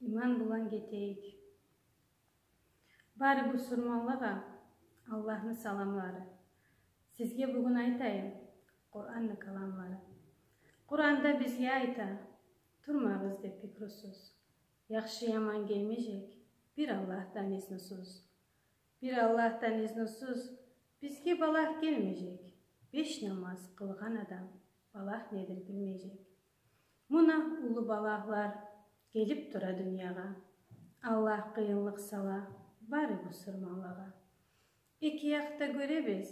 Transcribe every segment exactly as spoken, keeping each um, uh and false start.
иман булан кетейик. Баары бусурманларга Аллахны саламлары. Сизге бүгүн айтайын Куранны каламлары. Куранда бизге айта, турмагыз деп пикрусуз. Яхшы яман келмежек, бир Аллахтан изнусуз. Бир Аллахтан изнусуз бизге балах келмежек. Беш намаз кылган адам балах недир билмежек. Муна улуу балахлар келип тура дүйняга. Аллах кыйынлык сала баары бусурманларга. Эки якта көрөбүз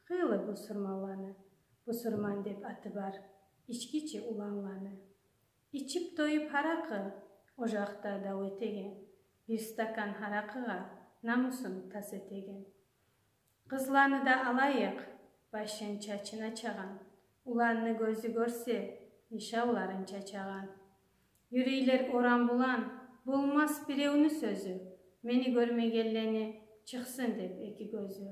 кыйлы бусурманланы. Бусурман деп аты бар ичкичи уланланы. Ичип тоюп харакы о жакта дау этеген. Бир стакан харакыга намысын тас этеген. Кызланы да алайык, башын чачына чаган. Уланны көзү көрсө, нишауларын чачаган. Юрейлер оран булан, болмас бирөөнү сөзү. Мени көрмөгенлени чыксын деп эки көзү.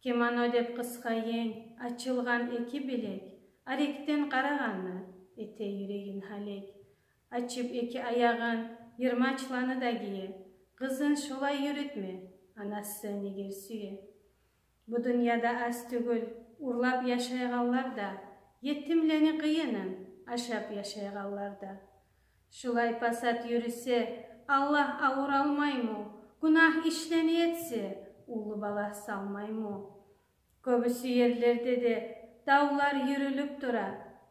Кемано деп кыска эң, ачылган эки билек. Аректен караганны, эте юрегин халек. Ачып эки аягын, йырмачланы да кие. Кызын шулай үйрөтмө, анасы негер сүйө. Бу дүйняда аз түгүл, урлап жашайганлар да, етимлени кыйынын ашап жашайганлар да. Шулай пасат жүрүсө, Аллах ауыр алмаймы? Гунах ишлени этсе, улуу бала салмаймы? Көбүсү жерлерде де даулар жүрүлүп тура,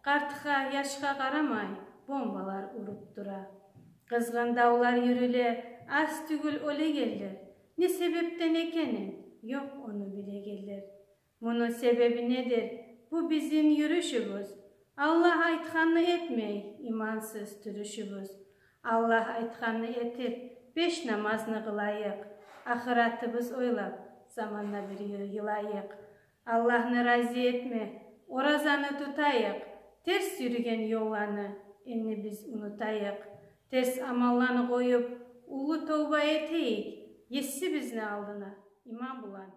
картка, жашка карамай, бомбалар уруп тура. Кызгын даулар жүрүлө, аз түгүл олегелер. Не себептен экенин, жок ону билегелер. Мунун себеби недир? Бу биздин жүрүшүбүз. Аллах айтканны этмей, имансыз түрүшүбүз. Аллах айтканны этип, беш намазны кылайык. Ахыратыбыз ойлап, заманна бир йылайык. Аллахны разы этме, оразаны тутайык. Терс жүргөн жолланы эмне биз унутайык. Терс амалланы коюп, улуу тооба этейик. Эсси биздин алдына иман булан.